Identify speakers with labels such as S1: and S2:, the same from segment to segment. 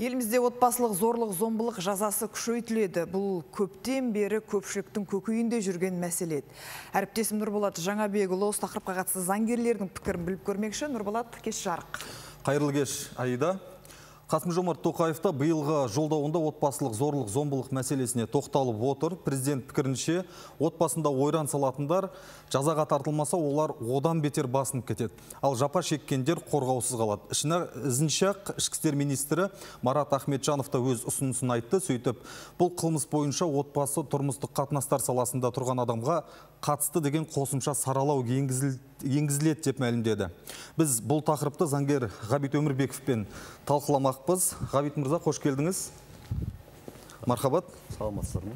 S1: Елімізде отбасылық зорлық-зомбылық жазасы күшейтіледі. Бұл көптен бері көпшіліктің көкейінде жүрген мәселе. Әріптесім Нұрболат Жаңабекұлы осы тақырыпқа қатысты заңгерлердің пікірін біліп көрмекші. Нұрболат, кеш жарық.
S2: Қайырлы кеш, Аида. Қасым-Жомарт Тоқаевта биылғы жолдауында отбасылық зорлық-зомбылық мәселесіне тоқталып отыр. Президент пікірінше, отбасында ойран салатындар жазаға тартылмаса, олар одан бетер басынып кетеді. Ал жапа шеккендер қорғаусыз қалады. Ізінше ішкі істер министрі Марат Ахметжанов та өз ұсынысын айтты. Сөйтіп, бұл қылмыс бойынша отбасы тұрмыстық қатынастар саласында тұрған адамға қатысты деген қосымша саралау енгізіледі деп мәлімдеді. Біз бұл тақырыпты заңгер Ғабит Өмірбековпен талқыламақпыз. Ғабит мырза, қош келдіңіз. Мархабат.
S3: Саламатсыздар ма?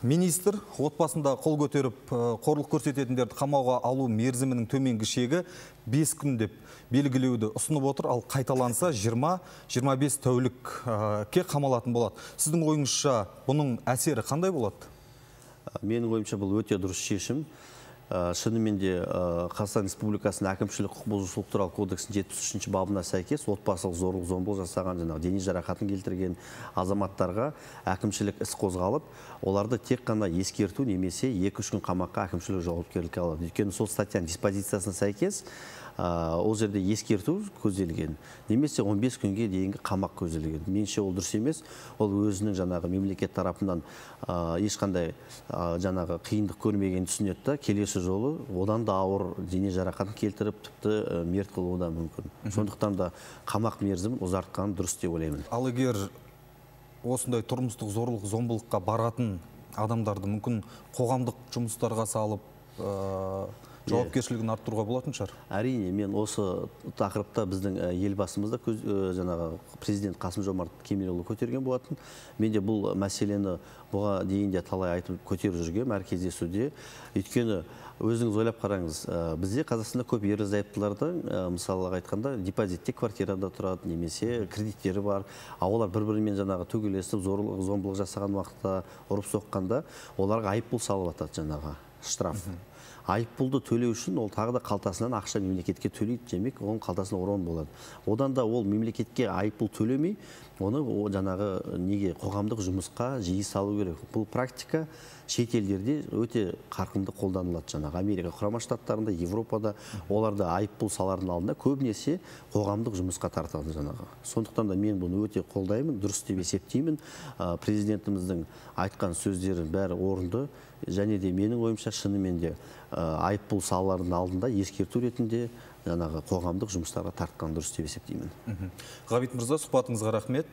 S2: Министр отбасында қол көтеріп, қорлық көрсететіндерді қамауға алу мерзімінің төменгі шегі 5 күн деп белгілеуді ұсынып отыр, ал қайталанса 20-25 тәулікке қамалатын болады. Сіздің ойыңызша бұның әсері қандай болады?
S3: Менің ойымша бұл өте дұрыс шешім. Шынымен де Қазақстан Республикасының әкімшілік құқық бұзушылық туралы кодексінің 73-ші бабына сәйкес отбасылық зорлық-зомбылық жасаған дене жарақатын келтірген азаматтарға әкімшілік іс қозғалып, оларды тек қана ескерту немесе 2-3 күн қамаққа әкімшілік жауапкершілікке алады. Өйткені сол статьяның диспозициясына сәйкес ол жерде ескерту көзделген, немесе 15 күнге дейінгі қамақ көзделген. Меніңше ол дұрыс емес. Ол өзінің жаңағы мемлекет тарапынан ешқандай жаңағы қиындық көрмеген түсінеді, келесі жолы одан да ауыр дене жарақатын келтіріп, тіпті мерт қылуы да мүмкін. Сондықтан да қамақ мерзімін ұзартқан дұрыс деп ойлаймын.
S2: Ал егер осындай тұрмыстық зорлық-зомбылыққа баратын адамдарды мүмкін қоғамдық жұмыстарға салып, жауапкершілігін арттыруға болатын шығар?
S3: Әрине, мен осы тақырыпта біздің елбасымызда жаңағы президент Қасым-Жомарт Кемелұлы көтерген болатын. Мен де бұл мәселені бұға дейін де талай айтып көтеріп жүргем әр кездесуде. Өйткені өзіңіз ойлап қараңыз, бізде Қазақстанда көп ерлі-зайыптылардың, мысалға айтқанда, депозитте квартирада тұрады, немесе кредиттері бар. Олар бір-бірімен жаңағы төгілесіп, зорлық-зомбылық жасаған уақытта, ұрып соққанда, оларға айыппұл салып жатады жаңағы штраф. Айыппұлды төлеу үшін ол тағы да қалтасынан ақша мемлекетке төлейді, демек оның қалтасына орын болады. Одан да ол мемлекетке айыппұл төлемей, оны жаңағы неге қоғамдық жұмысқа жиі салу керек. Бұл практика шет елдерде өте қарқынды қолданылады. Жаңағы Америка құрама штаттарында, Европада оларда айыппұл салардың алдында көбінесе қоғамдық жұмысқа тартады жаңағы. Сондықтан да мен бұны өте қолдаймын, дұрыс деп есептеймін. Президентіміздің айтқан сөздері бәрі орынды, және де менің ойымша шынымен де айыппұл салардың алдында ескерту ретінде жаңағы қоғамдық жұмыстарға тартқан дұрыс деп есептеймін.
S2: Ғабит мырза, сұхбатыңызға рахмет.